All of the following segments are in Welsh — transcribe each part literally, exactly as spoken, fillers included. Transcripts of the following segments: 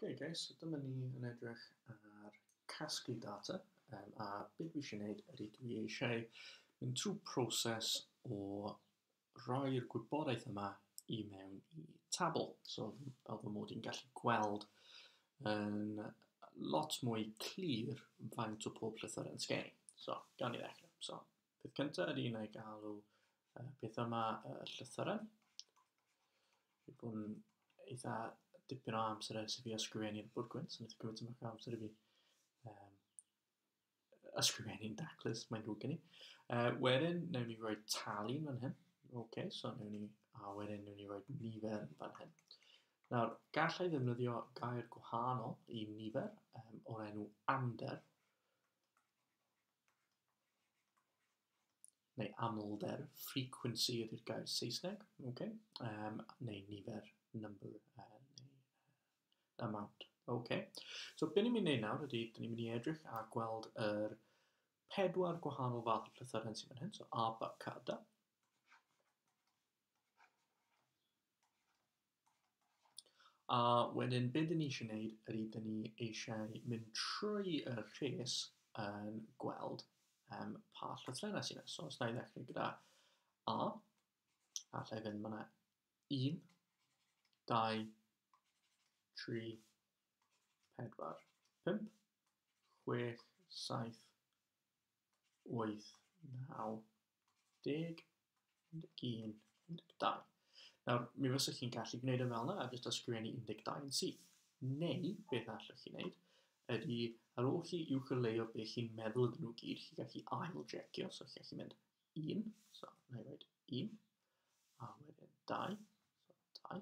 Okay guys, so dyma ni yn edrych ar casglu data, um, a beth dwi eisiau gwneud ydy dwi eisiau mynd trwy proses o roi'r gwybodaeth yma i mewn i tabl. So fel fy mod i'n gallu gweld yn lot mwy clir faint o pob llythyren sgen i. So, gawn ni ddechrau. So, peth cyntaf ydy wna i galw uh, peth yma uh, llythyren. Fi bod yn eitha dipyn o amser ers i fi ysgrifennu'r bwrdd gwyn, so wnaeth o gymryd tipyn bach o amser i fi um, ysgrifennu'n daclus, mae'n ddrwg gen i. Uh, wedyn, wnawn ni roi tally fan hyn. OK, so wnawn ni, a wedyn wnawn ni roi nifer yn fan hyn. Nawr, gallai ddefnyddio gair gwahanol i nifer um, o'r enw amder, neu amlder, frequency ydy'r gair Saesneg, okay? um, neu nifer, number, uh, neu uh, amount. Okay. So, be ni'n mynd i wneud nawr ydy, dyn ni'n mynd i edrych a gweld yr pedwar gwahanol fath o llythyren sydd fan hyn, so A, B, C, D. A wedyn, be dyn ni eisiau gwneud ydy, dyn ni eisiau mynd trwy y rhes yn gweld um, pa llythrennau sydd yna. So, os na i ddechrau gyda A, allai fynd fyna un, dau, tri, pedwar, pump, chwech, saith, wyth, naw, deg, un deg un, un deg dau. Nawr, mi fysech chi'n gallu gwneud e fel yna a jyst ysgrifennu un deg dau yn syth. Neu, beth allwch chi wneud, ydy ar ôl chi uwcholeuo beth chi'n meddwl ydyn nhw gyd, chi'n gallu ail-jecio, so chi'n gallu mynd un, so na i roed un, a wedyn dau, so dau,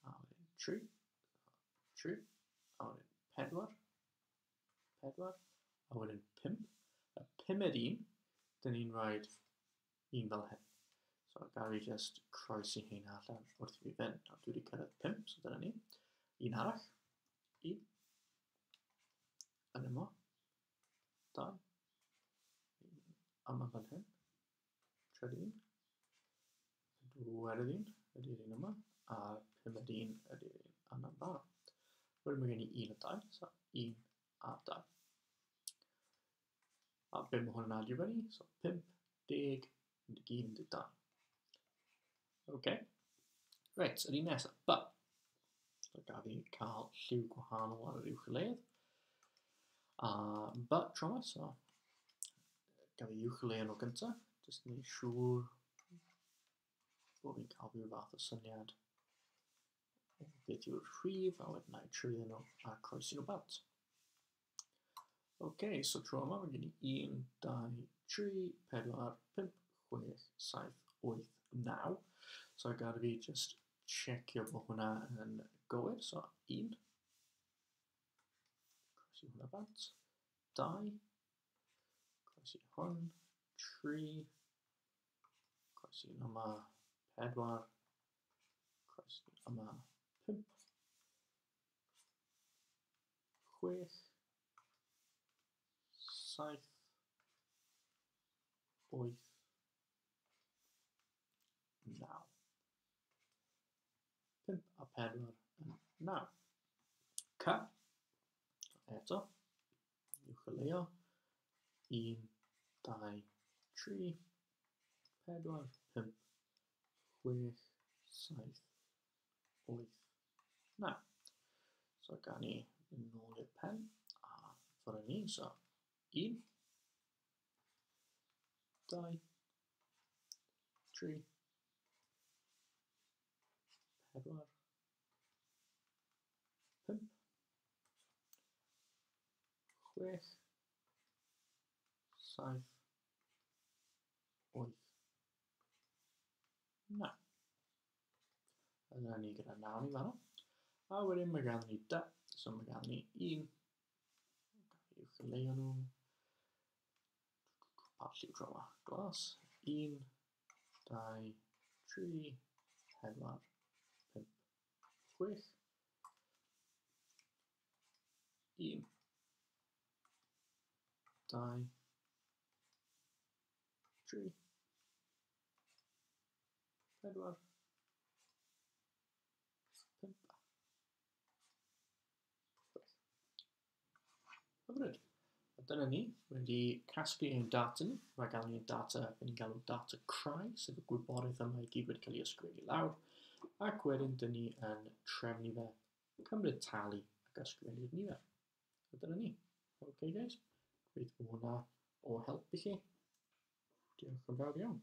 a wedyn tri, tri, a wedyn pedwar, pedwar, a wedyn pump. Y pumed un, dyn ni'n rhoi un fel hyn. So gael fi just croesi hyn allan wrth i fi fynd. Nawr dwi wedi cyrraedd pump, so dyna ni. Un arall, un, yn yma, dau, un yma fan hyn, trydydd un, pedwerydd un ydy'r un yma, a'r pumed un ydy'r un yna fan'na. Wedyn mae gen i un a dau, so un a dau. A be mae hwn yn adio fyny? So pump, deg, un deg un, un deg dau. OK. Reit, yr un nesaf, B. So gaf fi cael lliw gwahanol ar yr uwcholeuedd. A B tro yma, so gaf fi uwcholeuo nhw gyntaf. Jyst yn gwneud siŵr bod fi'n cael rhyw fath o syniad o beth yw'r rhif, a wedyn na i trwyddo nhw a croesi nhw bant. OK, so tro yma mae gen i un, dau, tri, pedwar, pump, chwech, saith, wyth, naw. So gad i fi just checio bod hwnna yn gywir. So un, croesi hwnna bant, dau, croesi hwn, tri, croesi yma, pedwar, croesi yma, pump, chwech, saith, wyth, naw. Pump a pedwar yn naw. C. Eto, uwcholeuo. Un, dau, tri, pedwar, pump, chwech, saith, wyth, naw. So gawn ni fynd nôl i'r pen a ffwrdd ni. So un, dau, tri, pedwar, pump, chwech, saith, wyth, naw. A dyna ni gyda naw ni fanno. A wedyn mae ganddyn ni da, so mae ganddyn ni un, uwcholeuo nhw, pa lliw tro yma? Glas, un, dau, tri, pedwar, pump, chwech, un, dau, tri, pedwar, pump, Hyfryd. A dyna ni, wedi casglu ein data ni. Mae gael ni'n data, fe ni'n galw data crai, sef y gwybodaeth yma i gyd wedi cael ei ysgrifennu lawr. Ac wedyn, dyn ni yn trefnu fe, cymryd tali ac ysgrifennu'r nifer. A dyna ni. OK guys, gobeithio bod hwnna o help i chi. Diolch yn fawr iawn.